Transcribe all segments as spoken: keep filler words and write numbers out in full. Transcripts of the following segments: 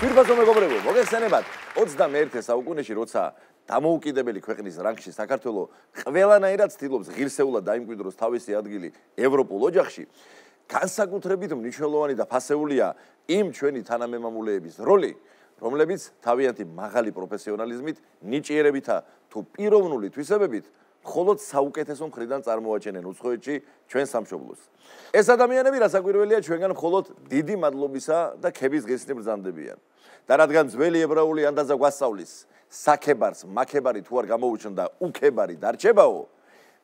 Ძვირფასო მეგობრებო, მოგეხსენებათ ოცდამეერთე საუკუნეში, როცა დამოუკიდებელი ქვეყნის რანგში საქართველო ყველანაირად ცდილობს ღირსეულად დაიმკვიდროს თავისი ადგილი ევროპულ ოჯახში, განსაკუთრებით მნიშვნელოვანი და ფასეულია იმ ჩვენი თანამემამულეების როლი, რომლებიც თავიანთი მაღალი პროფესიონალიზმით, ნიჭიერებითა თუ პიროვნული თვისებებით მხოლოდ საუკეთესო მხრიდან წარმოაჩენენ უცხოეთში ჩვენ სამშობლოს. ეს ადამიანები რასაკვირველია ჩვენგან მხოლოდ დიდი მადლობისა და ქების ღირსნი ბრძანდებიან. და რადგან ძველი ებრაული ანდაზა გვასწავლის, საქებარს მაქებარი თუ არ გამოუჩნდა, უქებარი დარჩებაო,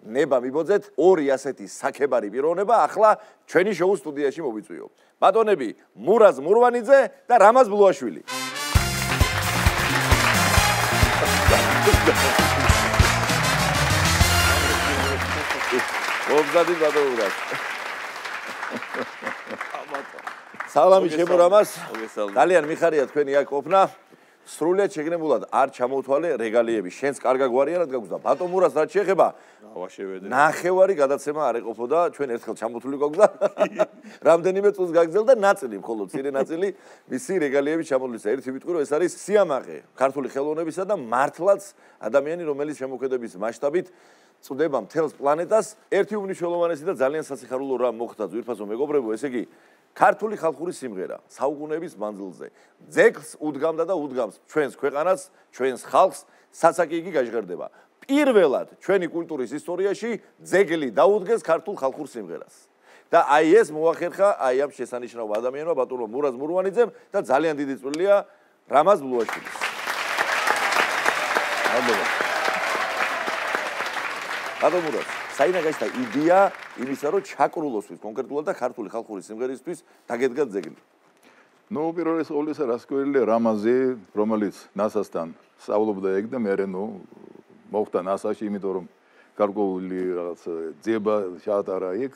ნება მიბოძეთ ორი ასეთი საქებარი პიროვნება ახლა ჩვენი შოუ სტუდიაში მოვიწვიო. ბატონები, მურაზ მურვანიძე და რამაზ ბლუაშვილი. მოგზადით ბატონურად. სალამი ჩემო რამაზ. ძალიან მიხარია თქვენი აქ ყოფნა. სრულიად შეგნებულად არ ჩამოვთვალე რეგალიები. შენს კარგა გვარია რა გაგუზდა. ბატონ მურაზ რაც შეეხება, ნახევარი გადაცემა არ ეყოფოდა, ჩვენ ერთხელ ჩამოთვლილი გაგუზდა. რამდენიმე წუთს გაგზელდა ნაწილი, მხოლოდ მცირე ნაწილი მისი რეგალიები ჩამოთვლის. ერთი ვიტყვი რომ ეს არის სიამაყე ქართული ხელოვნებისა და მართლაც ადამიანი რომელიც შემოქმედების მასშტაბით წვდება მთელს პლანეტას. ერთი უმნიშვნელოვანესი და ძალიან სასიხარულო რამ მოხდა ძვირფასო მეგობრებო, ესე იგი ქართული ხალხური სიმღერა საუკუნეების მანძილზე ძეგლს უდგამდა და უდგამს ჩვენს ქვეყანას, ჩვენს ხალხს, სასაკი იგი გაჟღერდება. პირველად ჩვენი კულტურის ისტორიაში ძეგლი დაუდგეს ქართულ ხალხურ სიმღერას. და აი ეს მოახერხა აი ამ შესანიშნავ ადამიანმა ბატონო მურაზ მურვანიძემ და ძალიან დიდი წვლილია რამაზ ბლუაშვილის. მადლობა. ბატონ მურაზ, საიდან გაჩნდა იდეა იმისა, რომ ჩაკრულოსთვის კონკრეტულად და ქართული ხალხური სიმღერისთვის დაგედგა ძეგლი? ნუ პირველ ყოვლისა რას გვერდია რამაზი, რომელიც ნასასთან სწავლობდა ეგ და მე ნუ მოხდა ნასაში, იმიტომ რომ გარკვეული რაღაც ძიება ჩაატარა იქ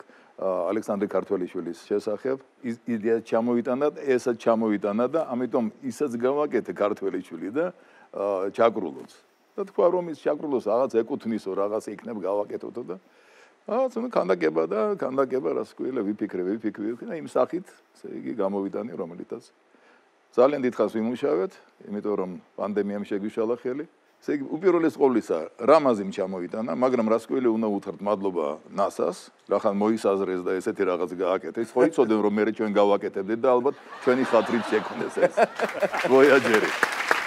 ალექსანდრე ქართველიშვილის შესახებ. იდეა ჩამოიტანა, ესაც ჩამოიტანა და ამიტომ ისაც გავაკეთე ქართველიშვილი და ჩაკრულოს. და თქვა რომ ის ჩაკრულოს რაღაც ეკუთვნისო, რაღაც იქნებ გავაკეთოთო და აა ცოტა კანდაკება და კანდაკება რას ქვია ვიფიქრე, ვიფიქრე და იმ სახით, ესე იგი გამოვიტანე რომელიცაც ძალიან დიდხანს ვიმუშავეთ, იმიტომ რომ პანდემიამ შეგვიშალა ხელი. ესე იგი უპირველეს ყოვლისა რამაზიმ ჩამოიტანა, მაგრამ რას ქვია უნდა უთხრათ მადლობა ნასას, რახან მოისაზრეს და ესეთი რაღაც გააკეთეს. ხო იცოდნენ რომ მე ჩვენ გავაკეთებდით და ალბათ ჩვენი ხათრით შექმნეს ეს ვოიაჯერი.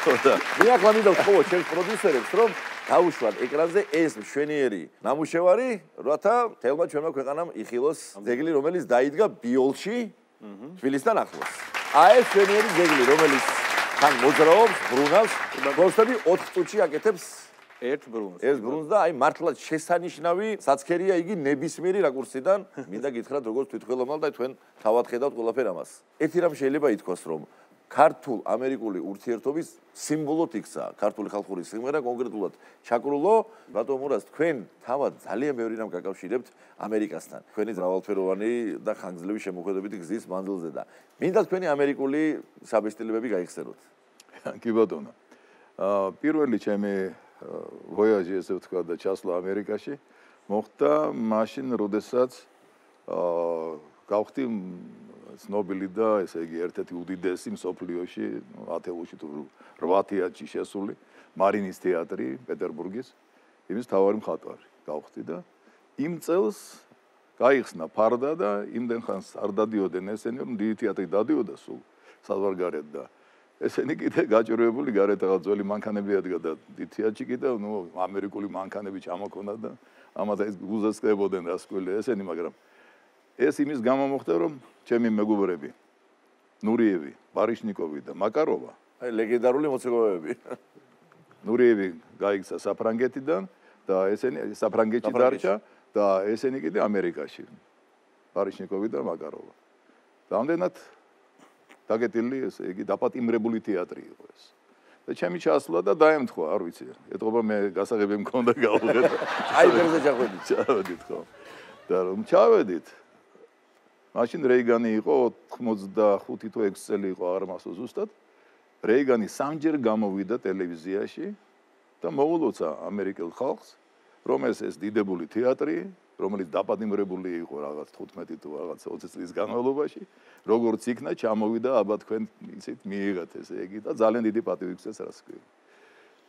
მე ახლა მინდა ვთხოვო ჩემს პროდიუსერებს, რომ დაუშვათ ეკრანზე ეს მშვენიერი ნამუშევარი, რათა თელმა ჩვენმა ქვეყანამ იხილოს ძეგლი, რომელიც დაიდგა ბიოლში, თბილისთან ახლოს. აი ეს მშვენიერი ძეგლი, რომელიც თან მოძრაობს, ბრუნავს, გოსტები ოთხ წუთში აკეთებს ერთ ბრუნს. ეს ბრუნს და აი მართლაც შესანიშნავი საცქერია იგი ნებისმიერი რაკურსიდან. მინდა გითხრათ, როგორც თვითმხილოვნალ და თქვენ თავად ხედავთ ყველაფერ ამას. ერთი რამ შეიძლება ითქვას, რომ ქართულ-ამერიკული ურთიერთობის სიმბოლოდ იქცა ქართული ხალხური სიმღერა, კონკრეტულად ჩაკრულო. ბატონ მურაზ, თქვენ თავად ძალიან ბევრი რამ გაკავშირებთ ამერიკასთან. თქვენი მრავალფეროვანი და ხანგრძლივი შემოქმედებითი გზის მანძილზე და მინდა თქვენი ამერიკული საბესტილებები გაიხსენოთ. კი ბატონო. აა პირველი ჩემი ვოიაჟი ესე ვთქვა და ჩასვლა ამერიკაში მოხდა მაშინ, როდესაც აა გავხდი ცნობილი და ესე იგი ერთ-ერთი უდიდესი მსოფლიოში ათეულში თუ რვა თეატრში შესული მარინის თეატრი პეტერბურგის იმის თავარი მხატვარი გავხდი და იმ წელს გაიხსნა ფარდა და იმდენ ხანს არ დადიოდნენ ესენი რომ დიდი თეატრი დადიოდა სულ საზღვარგარეთ და ესენი კიდე გაჭირვებული გარეთ რაღაც ძველი მანქანები ადგა და დიდი თეატრში კიდე ნუ ამერიკული მანქანები ჩამოქონდა და ამათ ეს გუზესკდებოდნენ რასკვილი ესენი მაგრამ ეს იმის გამო მოხდა რომ ჩემი მეგობრები ნურიევი, ბარიშნიკოვი და მაკაროვა, აი ლეგენდარული მოცეკვავეები. ნურიევი გაიქცა საფრანგეთიდან და ესენი საფრანგეთში დარჩა და ესენი კიდე ამერიკაში. ბარიშნიკოვი და მაკაროვა. რამდენად დაგეტილი ესე იგი დაპატიმრებული თეატრი იყო ეს. და ჩემი ჩასვლა და დაემთხვა, არ ვიცი. ეთყობა მე გასაღები მქონდა გავუღეთ. აი ფერზე ჩავედით. ჩავედით ხო. და რომ ჩავედით მაშინ რეიგანი იყო ოცდახუთი თუ ექვსი წელი იყო არ მასო ზუსტად. რეიგანი სამჯერ გამოვიდა ტელევიზიაში და მოულოცა ამერიკელ ხალხს, რომ ეს ეს დიდებული თეატრი, რომელიც დაპატიმრებული იყო რაღაც თხუთმეტი თუ რაღაც ოცი წლის განმავლობაში, როგორც იქნა, ჩამოვიდა, აბა თქვენ იცით, მიიღეთ ესე იგი და ძალიან დიდი პატივი გცეს რას ქვია.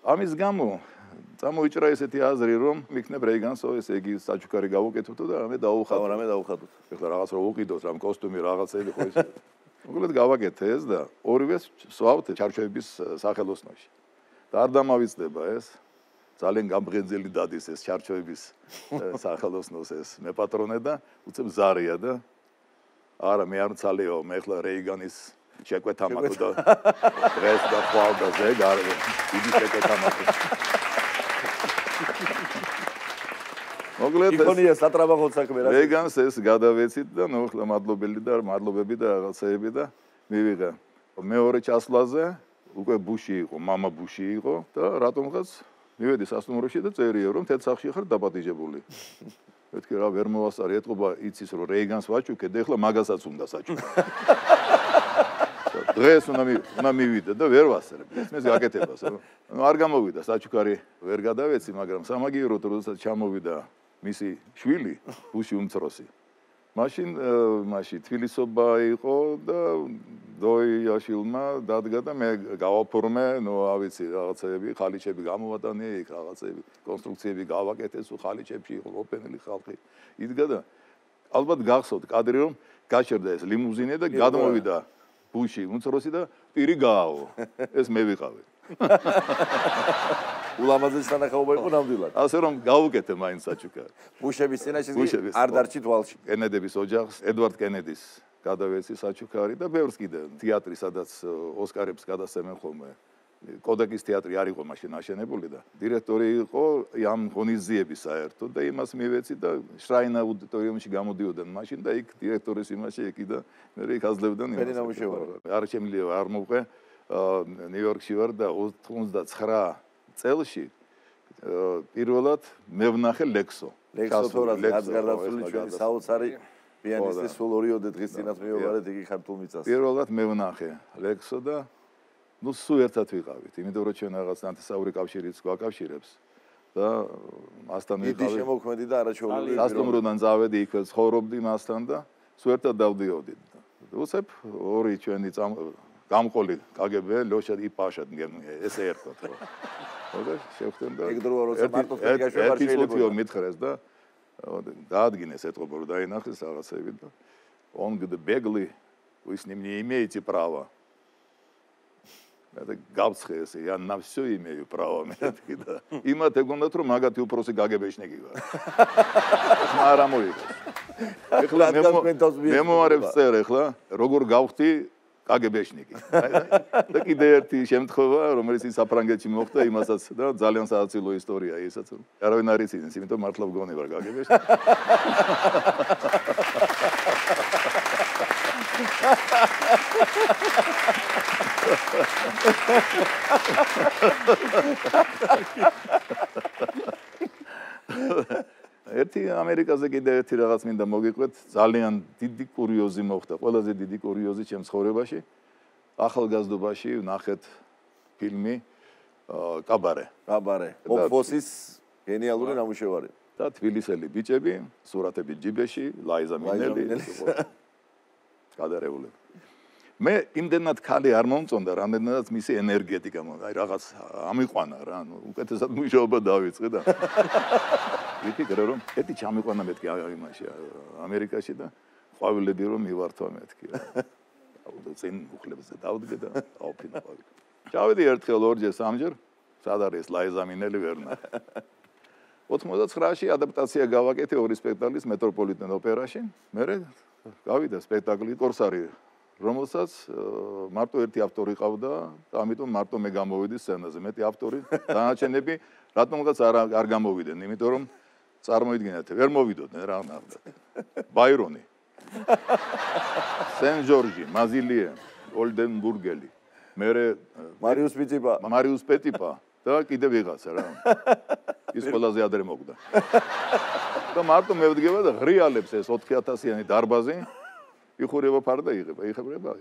ამის გამო წამოიჭრა ესეთი აზრი, რომ მიქნებ რეიგანსო ესე იგი საჩუქარი გავუკეთებთო და რამე დაუხატოთ. რამე დაუხატოთ. ეხლა რაღაც რო უყიდოთ, რამ კოსტუმი რაღაცები ხო ისე. უბრალოდ გავაკეთე ეს და ორივეს სვავთ ჩარჩოების სახელოსნოში. და არ დამავიწყდება ეს. ძალიან გამღენძელი დადის ეს ჩარჩოების სახელოსნოს ეს მეპატრონე და უცებ ზარია და არა მე არ მცალეო მე ახლა რეიგანის შეკვეთა მაქვს და დღეს და ხვალ და ზე გარე დიდი შეკვეთა მაქვს მოგლეთ იკონია სატრაბახოთ საქმე რა რეიგანს ეს გადავეცით და ნუ ახლა მადლობელი და მადლობები და რაღაცეები და მივიღე მეორე ჩასვლაზე უკვე ბუში იყო მამა ბუში იყო და რატომღაც მივედი სასტუმროში და წერია რომ თეთ სახში ხარ დაპატიჟებული. მეთქი რა ვერ მოვასწარი ეთყობა იცის რომ რეიგანს ვაჩუქე და ეხლა მაგასაც უნდა საჩუქო. დღეს უნდა უნდა მივიდე და ვერ ვასწრებ. ეს გაკეთებას რა. ნუ არ გამოვიდა საჩუქარი ვერ გადავეცი მაგრამ სამაგიეროდ როდესაც ჩამოვიდა მისი შვილი ბუში უმცროსი. მაშინ მაშინ თბილისობა იყო და დოიაშილმა დადგა და მე გავაფორმე, ნუ ავიცი რაღაცები, ხალიჩები გამოვატანე, იქ რაღაცები, კონსტრუქციები გავაკეთე, სულ ხალიჩებში იყო ოპენელი ხალხი. იდგა და ალბათ გახსოვთ კადრი რომ გაჩერდა ეს ლიმუზინე და გადმოვიდა ბუში უმცროსი და პირი გააო. ეს მე ვიყავი. ულამაზეს თანახმობა იყო ნამდვილად. ასე რომ გავუკეთე მაინც საჩუქარი. ბუშების წინაშე არ დარჩით ვალში. კენედების ოჯახს, ედვარდ კენედის გადავეცი საჩუქარი და ბევრს კიდე თეატრი, სადაც ოსკარებს გადასცემენ ხოლმე. კოდაკის თეატრი არ იყო მაშინ აშენებული და დირექტორი იყო იან ღონისძიების საერთოდ და იმას მივეცი და შრაინ აუდიტორიუმში გამოდიოდნენ მაშინ და იქ დირექტორის იმაში ეკი და მე იქ აძლევდნენ იმას. არ შემიძლია არ მოვყე ნიუ-იორკში ვარ და ოცდაცხრა წელში პირველად მე ვნახე ლექსო. ლექსო თორას გარდაცვლილი ჩვენი საოცარი პიანისტი სულ ორიოდე დღის წინათ მივაბარეთ იგი ქართულ მიწას. პირველად მე ვნახე ლექსო და ნუ სულ ერთად ვიყავით, იმიტომ რომ ჩვენ რაღაც ნათესაური კავშირიც გვაკავშირებს და მასთან ვიყავით. დიდი შემოქმედი და არაჩვეულებრივი. სასტუმროდან წავედი იქვე ცხოვრობდი მასთან და სულ ერთად დავდიოდით. უცებ ორი ჩვენი გამყოლი კაგებე ლოშა იპაშად ესე ერთად ხო. ხოდა შევხვდნენ და ეგ დროა როცა მარტო ფიგაშვა არ შეიძლება მითხრეს და დაადგინეს ეთყობა რომ დაინახეს რაღაცები და он говорит беглый вы с ним не имеете права. Это გავცხეს я на всё имею право მეთქი და იმათ ეგონდათ რომ მაგათი უფროსი გაგებეშნიკი ვარ. არა მოიგო. ეხლა მე მომარებს წერ ეხლა როგორ გავხდი კაგებეშნიკი. და კიდე ერთი შემთხვევა რომელიც საფრანგეთში მოხდა იმასაც და ძალიან საოცილო ისტორია ისაც. არავინ არ იცის, იმიტომ მართლა ვგონი ვარ კაგებეშნიკი. ერთი ამერიკაზე კიდე ერთი რაღაც მინდა მოგიყვეთ, ძალიან დიდი კურიოზი მოხდა, ყველაზე დიდი კურიოზი ჩემს ცხოვრებაში. ახალგაზრდობაში ვნახეთ ფილმი კაბარე. კაბარე. ოფოსის გენიალური ნამუშევარი. და თბილისელი ბიჭები, სურათები ჯიბეში, ლაიზა მინელი. გადარეული. მე იმდენად ხალი არ მომწონდა, რამდენადაც მისი ენერგეტიკა, აი რაღაც ამიყვანა რა, ანუ უკეთესად მუშაობა დავიწყე და ვიფიქრე რომ ერთი ჩამიყვანა მეთქი იმაში ამერიკაში და ყვავილები რომ მივართვა მეთქი რა. აუდო წინ უხლებზე დავდგე და აუფინა ყვავილი. ჩავედი ერთხელ ორჯერ სამჯერ, სად არის ლაიზა მინელი ვერ ნახე. ოცდაცხრაში ადაპტაცია გავაკეთე ორი სპექტაკლის მეტროპოლიტენ ოპერაში. მე გავიდა სპექტაკლი კორსარი რომელსაც მარტო ერთი ავტორი ყავდა და ამიტომ მარტო მე გამოვიდი სცენაზე. მეტი ავტორი დანარჩენები რატომღაც არ არ გამოვიდნენ, იმიტომ რომ წარმოიდგინეთ, ვერ მოვიდოდნენ რა ნახეთ. ბაირონი, სენ ჯორჯი, მაზილიე, ოლდენბურგელი, მერე მარიუს პეტიპა, მარიუს პეტიპა და კიდე ვიღაცა რა. ის ყველაზე ადრე მოგდა. და მარტო მე ვდგება და ღრიალებს ეს ოთხი ათასიანი დარბაზი იხურება ფარდა იღება, იხებრება.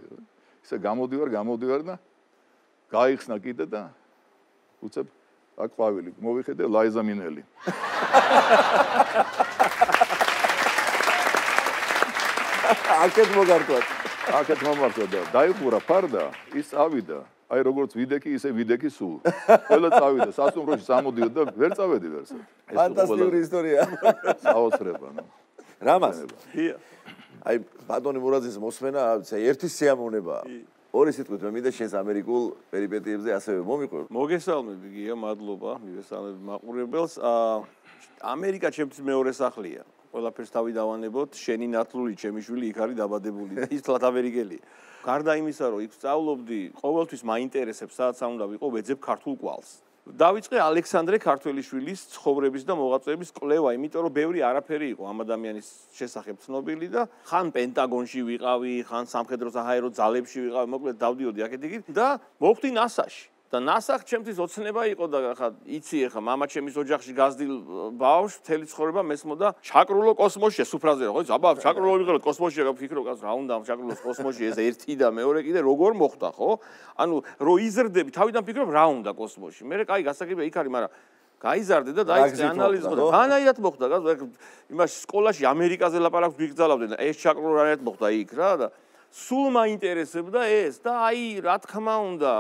ისე გამოდივარ, გამოდივარ და გაიხსნა კიდე და უცებ აქ ყვავილი მოვიხედე ლაიზა მინელი აქეთ მოგართვათ აქეთ მომართვა და დაიხურა ფარდა ის წავიდა აი როგორც ვიდექი ისე ვიდექი სულ ყველა წავიდა სასტუმროში სამოდიოდა და ვერ წავედი ვერსად ფანტასტიკური ისტორია საოცრება ნუ რამას აი ბატონი მურაძის მოსმენა ერთი სიამოვნებაა ორი სიტყვით მე მინდა შენს ამერიკულ პერიპეტიებზე ასევე მომიყვე მოგესალმები გია მადლობა მივესალმები მაყურებელს ამერიკა ჩემთვის მეორე სახლია ყველაფერს თავი დავანებოთ შენი ნათლული ჩემი შვილი იქ არის დაბადებული ის თლათ ამერიკელია გარდა იმისა რომ იქ სწავლობდი ყოველთვის მაინტერესებს სადაც უნდა ვიყო ვეძებ ქართულ კვალს დავიწყე ალექსანდრე ქართველიშვილის ცხოვრების და მოღვაწეების კვლევა, იმიტომ რომ ბევრი არაფერი იყო ამ ადამიანის შესახებ ცნობილი და ხან პენტაგონში ვიყავი, ხან სამხედრო საჰაერო ძალებში ვიყავი, მოკლედ დავდიოდი აქეთ-იქით და მოვხდი ნასაში. და ნასა ჩემთვის ოცნება იყო და ხა იცი ხა მამაჩემის ოჯახში გაზრდილ ბავშვს მთელი ცხოვრება მესმოდა ჩაკრულო კოსმოსში სუფრაზე ხო აბა ჩაკრულო ვიღალ კოსმოსში გაფიქრო კაც რა უნდა ჩაკრულოს კოსმოსში ეს ერთი და მეორე კიდე როგორ მოხდა ხო ანუ რო იზრდები თავიდან ფიქრობ რა უნდა კოსმოსში მე კაი გასაგებია იქ არის მაგრამ გაიზარდე და დაიწყე ანალიზი და განაირად მოხდა იმაში სკოლაში ამერიკაზე ლაპარაკს ვიგზავნდნენ და ეს ჩაკრულო რანაირად მოხდა იქ რა და სულ მაინტერესებდა ეს და აი რა თქმა უნდა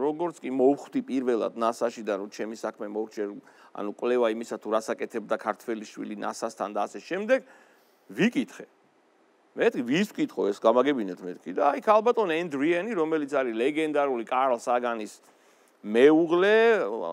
როგორც კი მოვხვდი პირველად ნასაში და რომ ჩემი საქმე მოვჭერ ანუ კვლევა იმისა თუ რასაკეთებდა ქართველიშვილი ნასასთან და ასე შემდეგ ვიკითხე მეთქი ვის ვკითხო ეს გამაგებინეთ მეთქი და აი ქალბატონ ენდრიენი რომელიც არის ლეგენდარული კარლ საგანის მეუღლე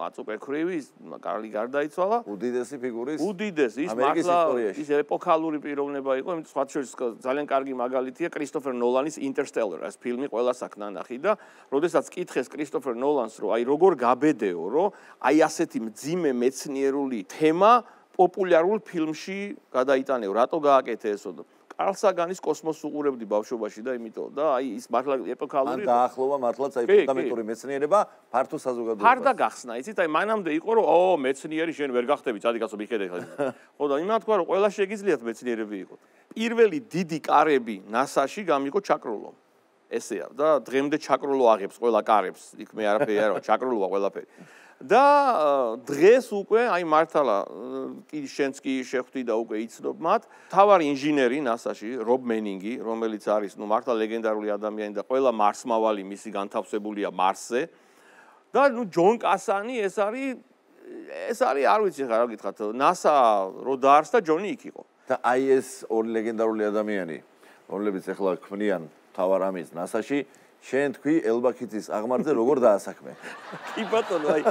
აწუპერქრივი კარლი გარდაიცვალა უდიდესი ფიგურის უდიდესი ის მართლა ის ეპოქალური პიროვნება იყო იმიტომ სხვა შორის ძალიან კარგი მაგალითია კრისტოფერ ნოლანის ინტერსტელარ ეს ფილმი ყველას აქ ნანახი და როდესაც კითხეს კრისტოფერ ნოლანს რომ აი როგორ გაბედეო რომ აი ასეთი მძიმე მეცნიერული თემა პოპულარულ ფილმში გადაიტანეო რატო გააკეთე ესო კარლ საგანის კოსმოსს უყურებდი ბავშვობაში და იმიტომ და აი ის მართლა ეპოქალური ან დაახლოვა მართლაც აი ფუნდამენტური მეცნიერება ფართო საზოგადოებას ფარდა გახსნა იცით აი მანამდე იყო რომ ო მეცნიერი შენ ვერ გახდები წადი კაცო მიხედე ხო და იმათ თქვა რომ ყველა შეგიძლიათ მეცნიერები იყო პირველი დიდი კარები ნასაში გამიყო ჩაკრულომ ესეა და დღემდე ჩაკრულო აღებს ყველა კარებს იქ მე არაფერი არა ჩაკრულოა ყველაფერი და დღეს უკვე აი მართლა კი შენც კი შეხვდი და უკვე იცნობ მათ თავარი ინჟინერი ნასაში რობ მენინგი რომელიც არის ნუ მართლა ლეგენდარული ადამიანი და ყველა მარსმავალი მისი განთავსებულია მარსზე და ნუ ჯონ კასანი ეს არის ეს არის არ ვიცი ხა რა გითხრათ ნასა რო დაარსდა ჯონი იქ იყო და აი ეს ორი ლეგენდარული ადამიანი რომლებიც ახლა ქმნიან თავარ ამის ნასაში შენ თქვი ელბაქიძის აღმართზე როგორ დაასაქმე? კი ბატონო, აი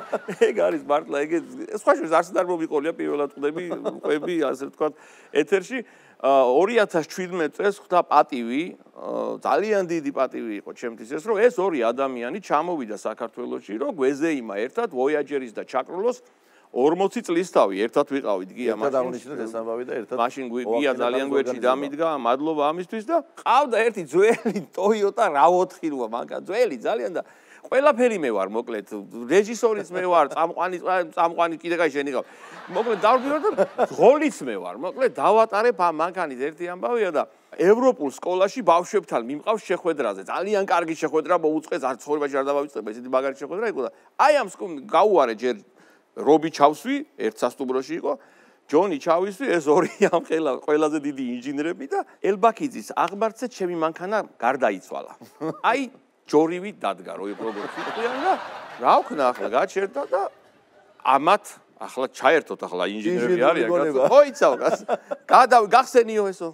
ეგ არის მართლა ეგ სხვა შორის არც არ მომიყოლია პირველად ყდები, ყვები, ასე ვთქვათ, ეთერში ორი ათას შვიდმეტ წელს ხვდა პატივი, ძალიან დიდი პატივი იყო ჩემთვის ეს, რომ ეს ორი ადამიანი ჩამოვიდა საქართველოში, რომ გვეზეიმა ერთად ვოიაჯერის და ჩაკრულოს ორმოცი წლის თავი ერთად ვიყავით გია მაშინ. ერთად აღნიშნეთ ეს ამბავი და ერთად. მაშინ გია ძალიან გვერდში დამიდგა, მადლობა ამისთვის და ყავდა ერთი ძველი Toyota RAV ოთხი რვა მანქანა, ძველი ძალიან და ყველაფერი მე ვარ, მოკლედ, რეჟისორიც მე ვარ, წამყვანი წამყვანი კიდე კაი შენი ყავ. მოკლედ დავდივარ და ღოლიც მე ვარ, მოკლედ დავატარებ ამ მანქანის ერთი ამბავია და ევროპულ სკოლაში ბავშვებთან მიმყავს შეხვედრაზე. ძალიან კარგი შეხვედრა მოუწყეს, არ ცხოვრებაში არ დავავიწყებ, ესეთი მაგარი შეხვედრა იყო და აი ამ გაუარე ჯერ რობი ჩავსვი, ერთ სასტუმროში იყო, ჯონი ჩავისვი, ეს ორი ამ ხელა ყველაზე დიდი ინჟინერები და ელბაქიძის აღმართზე ჩემი მანქანა გარდაიცვალა. აი ჯორივი დადგა, როგორც ვიყავი და რა ვქნა ახლა გაჩერდა და ამათ ახლა ჩაერთოთ ახლა ინჟინერები არიან კაცო. ხო იცავ კაც. გადავ გახსენიო ესო.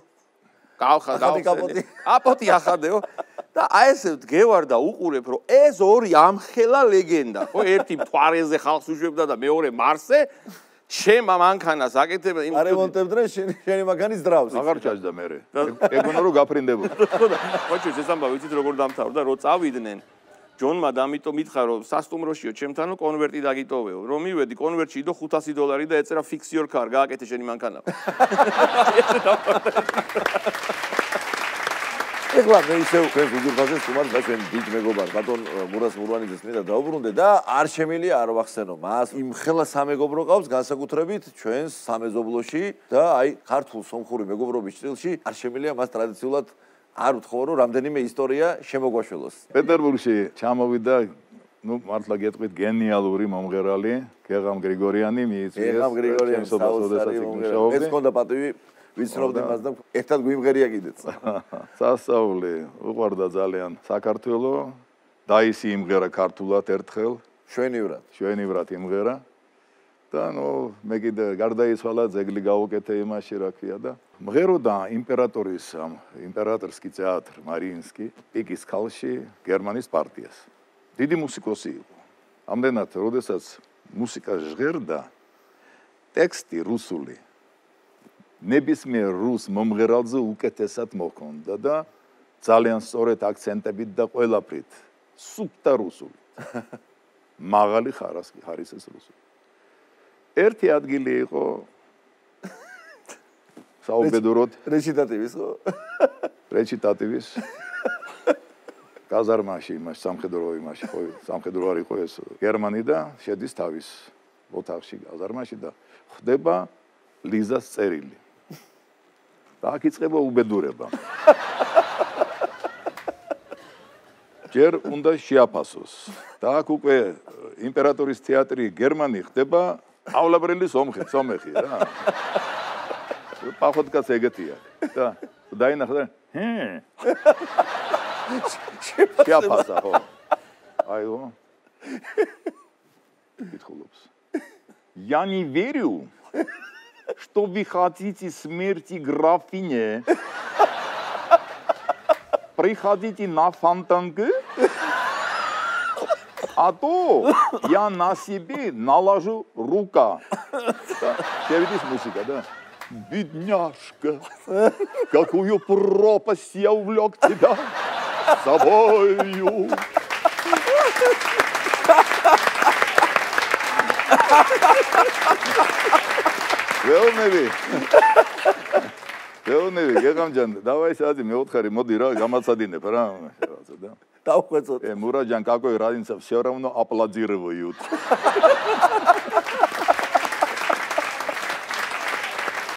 გავხა გავხსენი. აპოტი ახადეო. და აი ესე ვდგევარ და უყურებ რომ ეს ორი ამხელა ლეგენდა ხო ერთი მთვარეზე ხალხს უშვებდა და მეორე მარსზე ჩემ მანქანას აკეთებდა იმ არემონტებდნენ შენი შენი მანქანის დრავს აღარ ჩაჯდა მე ეგონა რომ გაფრინდებოდა ხო ჩვენ ეს ამბავი ვიცით როგორ დამთავრდა რომ წავიდნენ ჯონმა და ამიტომ მითხა რომ სასტუმროშიო ჩემთანო კონვერტი დაგიტოვეო რომ მივედი კონვერტში იდო ხუთასი დოლარი და ეწერა fix your car გააკეთე შენი მანქანა ეხლა მე ისევ ჩვენ უძურფაზე სტუმარს და ჩვენ დიდ მეგობარ ბატონ მურას მურვანიძეს მინდა დაუბრუნდე და არ შემილია არ ვახსენო მას იმ ხელა სამეგობრო ყავს განსაკუთრებით ჩვენს სამეზობლოში და აი ქართულ სომხური მეგობრობის სტილში არ შემილია მას ტრადიციულად არ ვთხოვო რომ რამდენიმე ისტორია შემოგვაშველოს პეტერბურგში ჩამოვიდა ну მართლა გეტყვით გენიალური მომღერალი გეღამ გრიგორიანი მიიწვიეს გეღამ გრიგორიანი საოცარი მომღერალი ეს ხონდა პატივი ვიცნობდი მას და ერთად გვიმღერია კიდეც სასწაული უყვარდა ძალიან საქართველო დაისი იმღერა ქართულად ერთხელ შვენივრად შვენივრად იმღერა და ნუ მე კიდე გარდაიცვალა ძეგლი გავუკეთე იმაში რა ქვია და მღეროდა იმპერატორის იმპერატორსკი თეატრ მარიინსკი პიკის ქალში გერმანიის პარტიას დიდი მუსიკოსი იყო ამდენად როდესაც მუსიკა ჟღერდა ტექსტი რუსული ნებისმიერ რუს მომღერალზე უკეთესად მოხონდა და ძალიან სწორედ აქცენტებით და ყველაფრით სუფთა რუსული მაღალი ხარისხის რუსული ერთი ადგილი იყო საუბედუროდ რეჩიტატივის ხო რეჩიტატივის კაზარმაში იმაში სამხედრო იმაში ხო სამხედრო არ იყო ეს გერმანი და შედის თავის ოთახში კაზარმაში და ხდება ლიზას წერილი და აქ იწყება უბედურება ჯერ უნდა შეაფასოს და აქ უკვე იმპერატორის თეატრი გერმანი ხდება ავლაბრელი სომხი სომეხი რა პახოთკაც ეგეთია და დაინახა ჰე შეაფასა ხო აიო ითხოვს я не верю что вы хотите смерти графине приходите на фонтанку а то я на себе наложу рука шевелись музыка да бедняжка какую пропасть я увлек тебя с собою Велневи. Велневи, გეგამჯან, давай სადი მეოთხარი, მოდი რა, გამაცადინებ რა, რაღაცა და. დავხვეწოთ. Э, Мураджан, какой разница, все равно аплодируют.